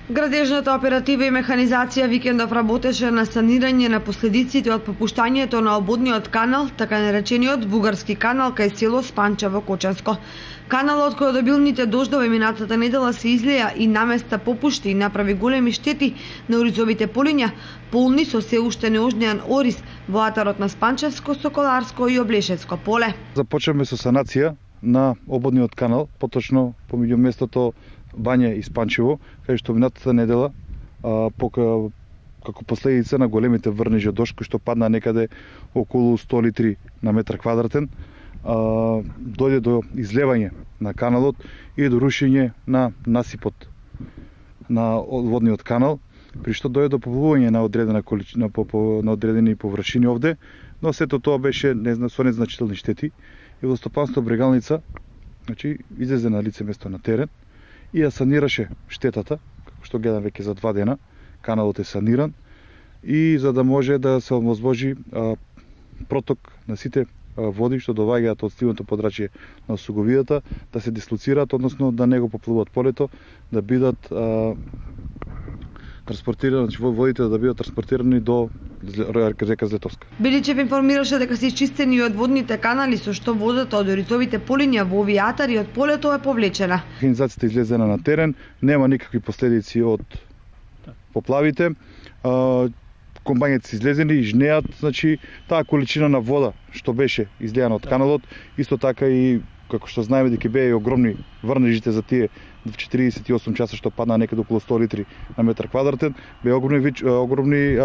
Градежната оператива и механизација викендов работеше на санирање на последиците од попуштањето на ободниот канал, така наречениот бугарски канал кај село Спанчево Кочанско. Каналот кој од обилните дождови минатата недела се излеја и наместа попушти и направи големи штети на оризовите полиња, полни со се уште неожнеан ориз во атарот на Спанчевско, Соколарско и Облешевско поле. Започнавме со санација на ободниот канал, поточно помеѓу местото Бања и Спанчево, кај што минатата недела како последица на големите врнежи од дожд кои што падна некаде околу 100 литри на метар квадратен, дојде до излевање на каналот и до рушење на насипот на водниот канал, при што дојде до поплувување на одредена количина на одредени површини овде, но сето тоа беше со незначителни штети и Водостопанство Брегалница, значи, излезе на лице место на терен и ја санираше штетата, како што гледам веќе за 2 дена, каналот е саниран и за да може да се овозможи проток на сите води што доаѓаат од стивното подрачје на Суговијата да се дислоцираат, односно да не го поплуват полето, да бидат транспортирани, значи водите да бидат транспортирани до река Злетовска. Беличев информираше дека се исчистени и одводните канали со што водата од оризовите полиња во овие атари од полето е повлечена. Механизацијата излезена на терен, нема никакви последици од поплавите. Комбањите се излезени и жнеат, значи таа количина на вода што беше излејана од каналот, исто така и како што знаеме дека беа и огромни врнежите за тие 48 часа што падна некаде околу 100 литри на метар квадратен, беа огромни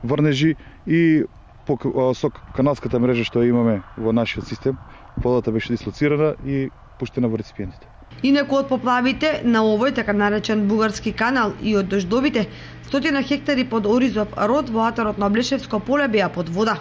врнежи и со каналската мрежа што имаме во нашиот систем, водата беше дислоцирана и пуштена во реципиентите. Инаку од поплавите на овој така наречен бугарски канал и од дождовите, 100 хектари под оризов род во атарот на Облешевско поле беа под вода.